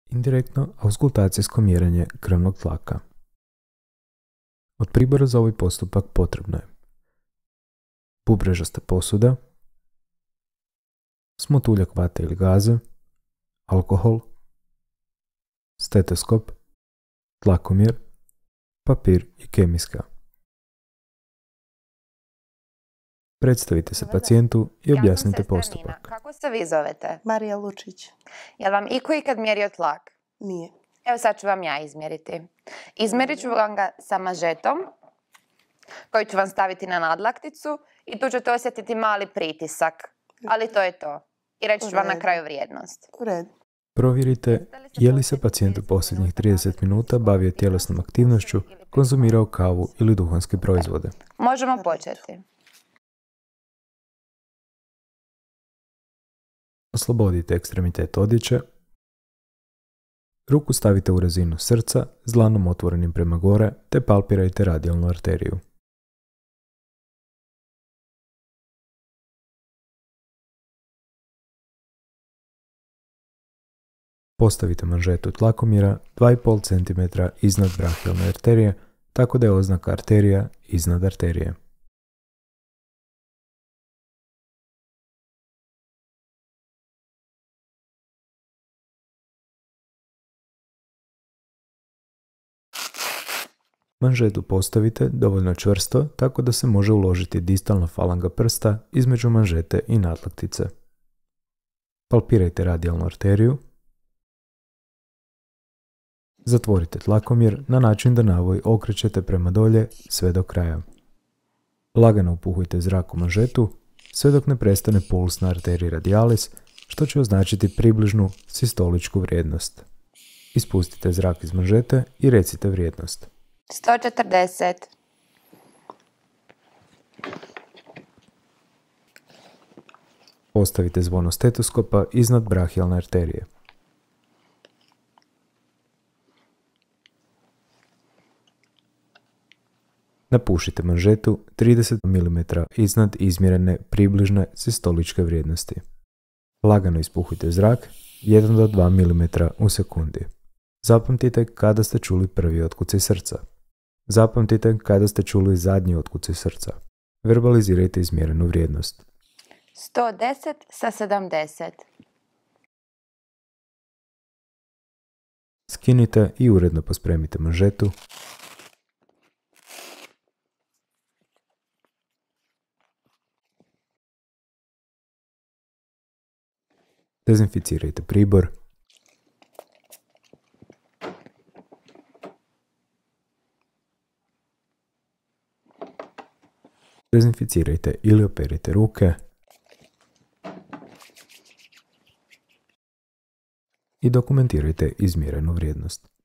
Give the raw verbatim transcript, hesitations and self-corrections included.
indirektno auskultacijsko mjerenje krvnog tlaka. Od pribora za ovaj postupak potrebno je bubrežasta posuda, smotuljak vate ili gaze, alkohol, stetoskop, tlakomjer, papir i kemijska. Predstavite se pacijentu i objasnite postupak. Kako se vi zovete? Marija Lučić. Je li vam iko ikad mjerio tlak? Nije. Evo sad ću vam ja izmjeriti. Izmjerit ću vam ga sa mažetom koji ću vam staviti na nadlakticu i tu ćete osjetiti mali pritisak. Ali to je to. I reći ću vam na kraju vrijednost. U redu. Provjerite je li se pacijent u posljednjih trideset minuta bavio tjelesnom aktivnošću, konzumirao kavu ili duhanske proizvode. Možemo početi. Oslobodite ekstremitet odjeće. Ruku stavite u razinu srca s dlanom otvorenim prema gore te palpirajte radijalnu arteriju. Postavite manžetu tlakomjera dva i pol centimetra iznad brahijalne arterije, tako da je oznaka arterija iznad arterije. Manžetu postavite dovoljno čvrsto tako da se može uložiti distalna falanga prsta između manžete i nadlaktice. Palpirajte radijalnu arteriju. Zatvorite tlakomjer na način da navoj okrećete prema dolje sve do kraja. Lagano upuhujte zrak u manžetu sve dok ne prestane puls na arteriji radialis, što će označiti približnu sistoličku vrijednost. Ispustite zrak iz manžete i recite vrijednost. sto četrdeset. Postavite zvono stetoskopa iznad brahijalne arterije. Napušite manžetu trideset milimetara iznad izmjerene približne sistoličke vrijednosti. Lagano ispuhujte zrak jedan do dva milimetra u sekundi. Zapamtite kada ste čuli prvi otkucaj srca. Zapamtite kada ste čuli zadnji otkucaj srca. Verbalizirajte izmjerenu vrijednost. sto deset sa sedamdeset. Skinite i uredno pospremite manžetu. Dezinficirajte pribor. Dezinficirajte ili operite ruke. I dokumentirajte izmjerenu vrijednost.